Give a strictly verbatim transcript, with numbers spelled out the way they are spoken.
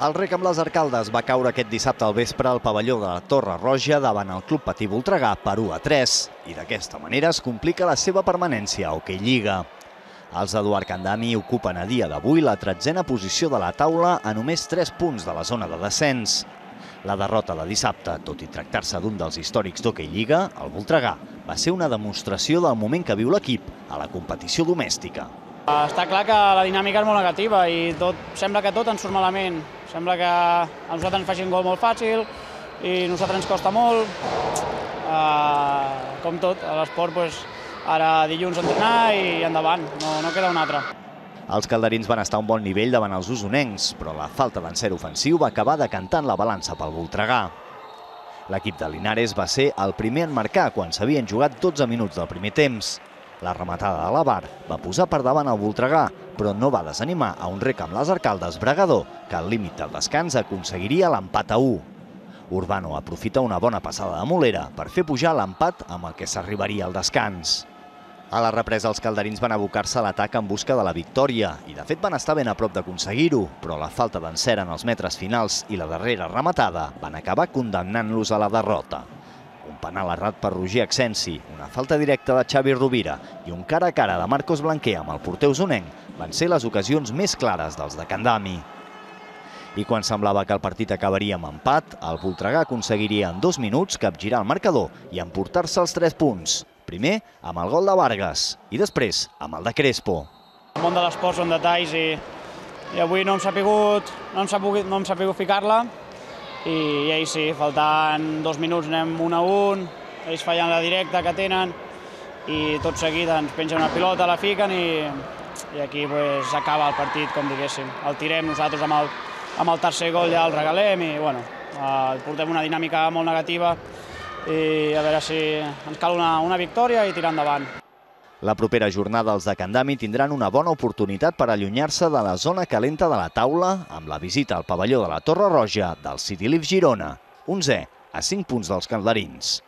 El rec amb les Arcaldes va caure aquest dissabte al vespre al pavelló de la Torre Roja davant el Club Patí Voltregà per u a tres i d'aquesta manera es complica la seva permanència a Hoquei Lliga. Els d'Eduard Candami ocupen a dia d'avui la tretzena posició de la taula a només tres punts de la zona de descens. La derrota de dissabte, tot i tractar-se d'un dels històrics d'Hoquei Lliga, el Voltregà, va ser una demostració del moment que viu l'equip a la competició domèstica. Està clar que la dinàmica és molt negativa i tot, sembla que tot ens surt malament. Sembla que a nosaltres ens facin gol molt fàcil i a nosaltres ens costa molt. Uh, com tot, a l'esport, pues, ara dilluns entrenar i endavant, no, no queda un altre. Els calderins van estar a un bon nivell davant els usonencs, però la falta d'encert ofensiu va acabar decantant la balança pel Voltregà. L'equip de Linares va ser el primer en marcar quan s'havien jugat dotze minuts del primer temps. La rematada de l'Avar va posar per davant el Voltregà, però no va desanimar a un rec amb les Arcaldes Bregador, que al límit del descans aconseguiria l'empat a u. Urbano aprofita una bona passada de Molera per fer pujar l'empat amb el que s'arribaria al descans. A la represa els calderins van abocar-se a l'atac en busca de la victòria i de fet van estar ben a prop d'aconseguir-ho, però la falta d'encert en els metres finals i la darrera rematada van acabar condemnant-los a la derrota. Un penal errat per Roger Accensi, una falta directa de Xavi Rovira i un cara a cara de Marcos Blanquer amb el porter usonenc van ser les ocasions més clares dels de Candami. I quan semblava que el partit acabaria amb empat, el Voltregà aconseguiria en dos minuts capgirar el marcador i emportar-se els tres punts. Primer amb el gol de Vargas i després amb el de Crespo. El món de l'esport són detalls i, i avui no hem sapigut, no hem sapigut, no hem sapigut ficar-la. I, i ells sí, faltant dos minuts anem un a un, ells fallant la directa que tenen i tot seguit ens pengen una pilota, la fiquen i, i aquí pues, acaba el partit, com diguéssim. El tirem nosaltres amb el, amb el tercer gol, ja el regalem i bueno, eh, portem una dinàmica molt negativa i a veure si ens cal una, una victòria i tirar endavant. La propera jornada els de Candami tindran una bona oportunitat per allunyar-se de la zona calenta de la taula amb la visita al pavelló de la Torre Roja del City Live Girona, onzè a cinc punts dels calderins.